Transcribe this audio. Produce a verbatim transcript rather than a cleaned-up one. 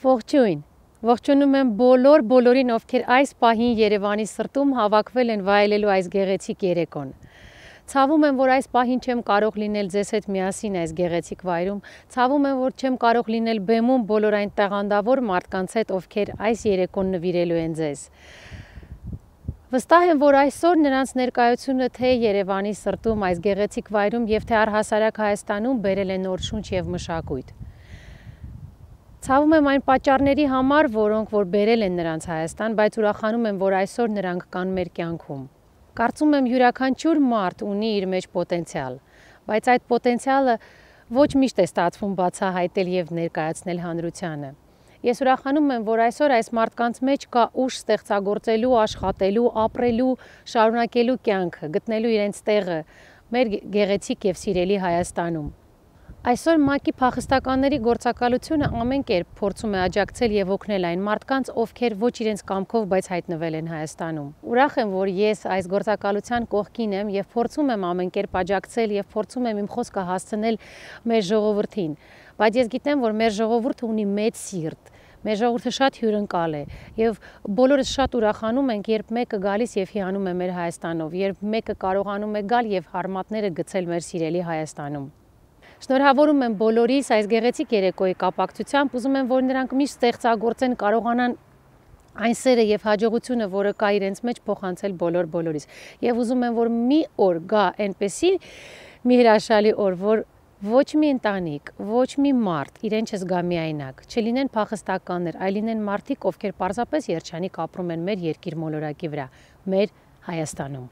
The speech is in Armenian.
Ողջույն, ողջունում եմ բոլոր բոլորին, ովքեր այս պահին Երևանի սրտում հավաքվել են վայելելու այս գեղեցիկ երեկոն։ Ցավում եմ, որ այս պահին չեմ կարող լինել ձեզ հետ միասին այս գեղեցիկ վայրում, ցավում եմ, որ չեմ կարող լինել բեմում բոլոր այն տաղանդավոր մարդկանց հետ, ովքեր այս երեկոն նվիրելու են ձեզ։ Վստահ եմ, որ այսօր նրանց ներկայությունը թե Երևանի սրտում այս գեղեցիկ վայրում եւ թե առհասարակ Հայաստանում բերել է նոր շունչ եւ մշակույթ։ Ցավում եմ այն պատճառների համար, որոնք որ բերել են նրանց Հայաստան, բայց ուրախանում եմ, որ այսօր նրանք կան մեր կյանքում։ Կարծում եմ յուրաքանչյուր մարդ ունի իր մեջ պոտենցիալ, բայց այդ պոտենցիալը ոչ միշտ է ստացվում բացահայտել եւ ներկայացնել հանրությանը։ Ես ուրախանում եմ, որ այսօր այս մարդկանց մեջ կա ուժ ստեղծագործելու, աշխատելու, ապրելու, շարունակելու կյանքը, գտնելու իրենց տեղը մեր գեղեցիկ եւ սիրելի Հայաստանում։ Այսօր ՄԱԿ-ի փախստականների գործակալությունը ամեն կերպ փորձում է աջակցել եւ օգնել այն մարդկանց, ովքեր ոչ իրենց կամքով, բայց հայտնվել են Հայաստանում։ Ուրախ եմ, որ ես այս գործակալության կողքին եմ եւ փորձում եմ ամեն կերպ աջակցել եւ փորձում եմ իմ խոսքը հասցնել մեր ժողովրդին։ Բայց ես գիտեմ, որ մեր ժողովուրդը ունի մեծ սիրտ։ Մեր ժողովուրդը շատ հյուրընկալ է եւ բոլորս շատ ուրախանում ենք, երբ մեկը գալիս եւ հիանում է մեր Հայաստանով, երբ մեկը կարողանում է գալ եւ հարմատները գցել մեր սիրելի Հայաստանում։ Շնորհավորում եմ բոլորիս այս գեղեցիկ երեկոյի կապակցությամբ, ուզում եմ, որ նրանք միշտ ստեղծագործեն, կարողանան այն սերը եւ հաջողությունը, որը կա իրենց մեջ, փոխանցել բոլոր բոլորիս։ Եվ ուզում եմ, որ մի օր գա այնպեսի մի հրաշալի օր, որ ոչ մի ընտանիք, ոչ մի մարդ իրեն չզգա միայնակ, չլինեն փախստականներ, այլ լինեն մարդիկ, ովքեր պարզապես երջանիկ ապրում են մեր երկիր մոլորակի վրա, մեր Հայաստանում։